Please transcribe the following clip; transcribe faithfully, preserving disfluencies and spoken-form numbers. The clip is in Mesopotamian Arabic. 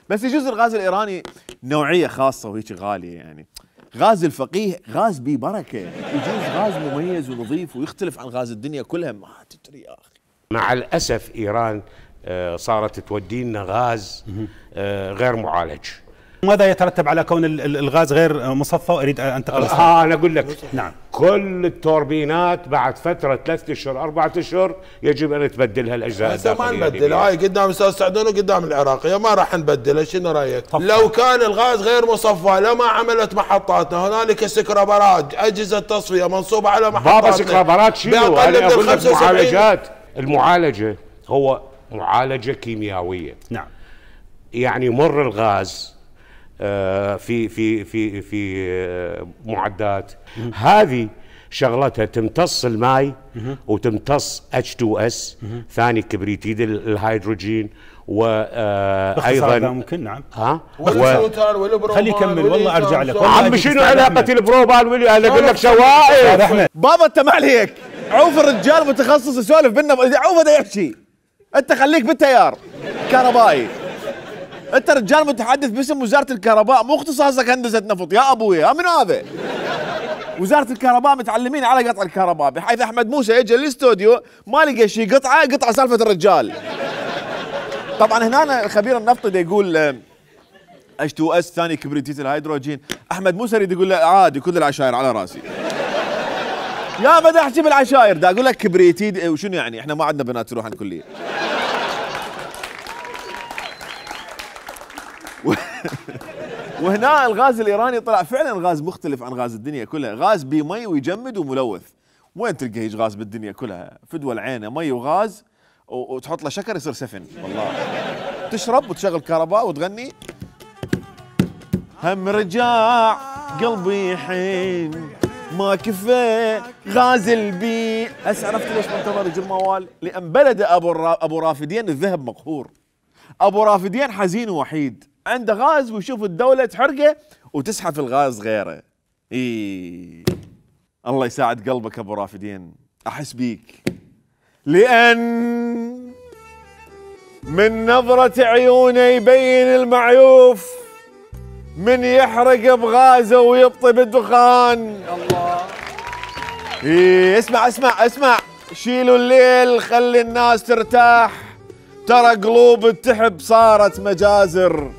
بس يجوز الغاز الايراني نوعيه خاصه وهيك غاليه يعني. غاز الفقيه غاز بيه بركه، يجوز غاز مميز ونظيف ويختلف عن غاز الدنيا كلها، ما تدري يا اخي. مع الاسف ايران صارت تودي لنا غاز غير معالج. ماذا يترتب على كون الغاز غير مصفى؟ اريد انتقل. اه انا اقول لك نعم. كل التوربينات بعد فتره ثلاث اشهر اربعة اشهر يجب ان تبدلها الاجزاء الداخليه. ما نبدلها، هاي قدام استاذ سعدون وقدام العراقيه ما راح نبدلها، شنو رايك؟ لو كان الغاز غير مصفى لما عملت محطاتنا، هنالك سكرابرات اجهزه تصفيه منصوبه على محطاتنا. بابا سكرابرات شنو؟ انا اقول لك معالجات. المعالجه هو معالجه كيميائيه. نعم. يعني مر الغاز في في في في معدات هذه شغلتها تمتص الماء وتمتص اتش تو اس ثاني كبريتيد الهيدروجين، وايضا ممكن. نعم. ها خليه يكمل والله ارجع لك. عم شنو علاقه البروبان واللي انا اقول لك شوائب. بابا انت ما عليك، عوف الرجال متخصص يسولف بينا، عوف ده يحكي، انت خليك بالتيار كهربائي، انت رجال متحدث باسم وزاره الكهرباء، مو اختصاصك هندسه نفط يا ابويا. من هذا وزاره الكهرباء متعلمين على قطع الكهرباء، بحيث احمد موسى يجي الاستوديو ما لقى شيء قطعه قطعه سالفه الرجال. طبعا هنا الخبير النفطي دا يقول اتش تو اس ثاني كبريتيت الهيدروجين، احمد موسى يريد يقول له عادي كل العشاير على راسي. يا بدا احكي بالعشاير، دا اقول لك كبريتيد وشنو يعني؟ احنا ما عندنا بنات تروح الكليه. وهنا الغاز الايراني طلع فعلا غاز مختلف عن غاز الدنيا كلها، غاز بمي ويجمد وملوث. وين تلقى هيج غاز بالدنيا كلها؟ فدوى العينه مي وغاز وتحط له شكر يصير سفن، والله تشرب وتشغل كهرباء وتغني هم رجع قلبي حين ما كفى غاز البي. هسه عرفت ليش منتظر يجي الموال؟ لان بلد ابو ابو رافدين الذهب مقهور. ابو رافدين حزين ووحيد، عنده غاز ويشوف الدولة تحرقه وتسحف الغاز غيره. اي الله يساعد قلبك ابو رافدين، احس بيك. لان من نظرة عيونه يبين المعيوف، من يحرق بغازه ويبطي بالدخان. الله. اي اسمع اسمع اسمع، شيلوا الليل خلي الناس ترتاح، ترى قلوب التحب صارت مجازر.